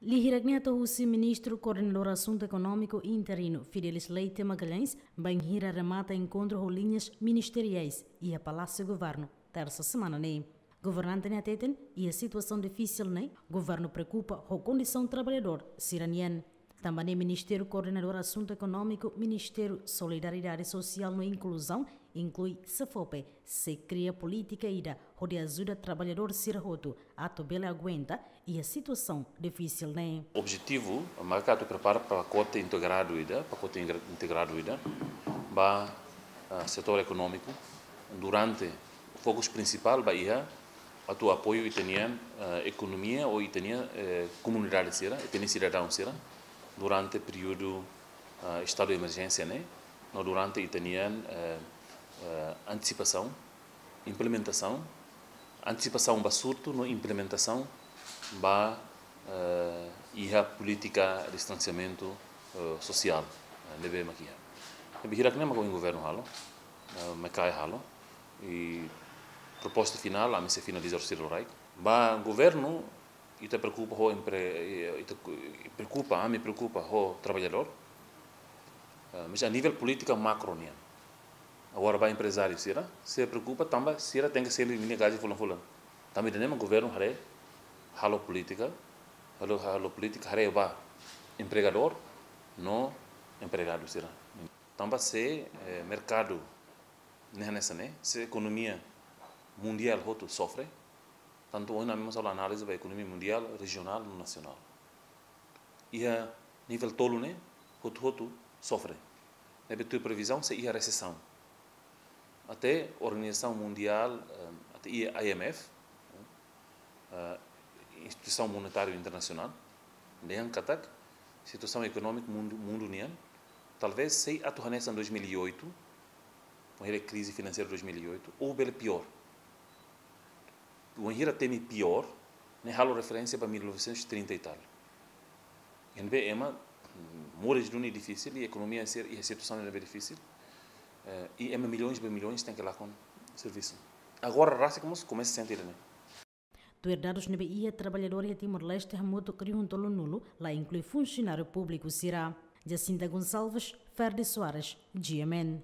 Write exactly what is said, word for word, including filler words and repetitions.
Lia hirak ne'e hato'o husi Ministru Koordenadór Asuntu Ekonómiku interinu, Fidelis Leite Magalhães, bainhira remata enkontru ho liñas ministeriais iha Palásiu Governu, tersa semana ne'e. Governante ne'e hateten, iha situasaun difisil ne'e, governu preokupa ho kondisaun traballadór sira-nian. Tanba ne'e Ministériu Koordenadór Asuntu Ekonómiku, Ministériu Solidariedade Sosiál no Inkluzaun, inklui SEFOPE, sei kria polítika ida hodi ajuda traballadór sira hotu atu bele aguenta iha situasaun difisil ne'e. Objetivu maka atu prepara pakote integradu ida, pakote integra-, integradu ida ba, ah, setór ekonómiku. Durante, fokus prinsipál ba iha atu apoiu ita-nian, ah, ekonomia ou ita-nian, eh, komunidade sira, ita-nian sidadaun sira durante períodu, ah, estadu de emerjénsia ne'e, no durante ita-nian, eh, eh, antisipasaun, implementasaun, antisipasaun ba surtu no implementasaun ba, eh, iha polítika distansiamentu, eh, sosiál, eh, ne'ebé mak iha. Ne'ebé hirak ne'e mak ohin governu halo, eh, MAECAE halo, i proposta finál, ami sei finaliza sira loraik. Ba governu, ita preokupa ho empre-, ita ku-, preokupa, ami preokupa ho traballadór. Eh, mas a nivel polítika makro nian. Agora ba emprezáriu sira, sira preokupa tanba sira tenke selu ninia gaji fulan-fulan. Tanba ida-ne'e mak governu haree halo polítika, halo, halo polítika haree ba empregadór no empregadu sira. Tanba se, eh, merkadu ne'e hanesan ne'e, se ekonomia mundiál hotu sofre, tantu ohin ami mós halo análize ba ekonomia mundiál, rejionál no nasionál. Iha nivel tolu ne'e, hotu-hotu sofre. Ne'ebé tuir previzaun sei iha resesaun. Até Organizasaun Mundiál, eh, até iha I M F, eh, Instituisaun Monetária Internasionál, dehan katak situasaun ekonómika mundu, mundu nian, talvés sei atu hanesan dois mil e oito, wainhira krize finanseira dois mil e oito, ou bele piór. Wainhira temi piór, ne'e halo referénsia ba mil novecentos e trinta e tal. Ne'ebé ema, mm, moris duni difisil i ekonomia sira iha situasaun ne'ebé difisil. Eh, i ema milhões ba milhões tenke lakon servisu. Agora rasik mós komesa sente ida-ne'e. Tuir dadus ne'ebé iha, traballadór iha Timor-Leste hamutuk rihun tolunulu, la inklui funsionáriu públiku sira. Jacinta Gonçalves, Ferdi Soares, G M N.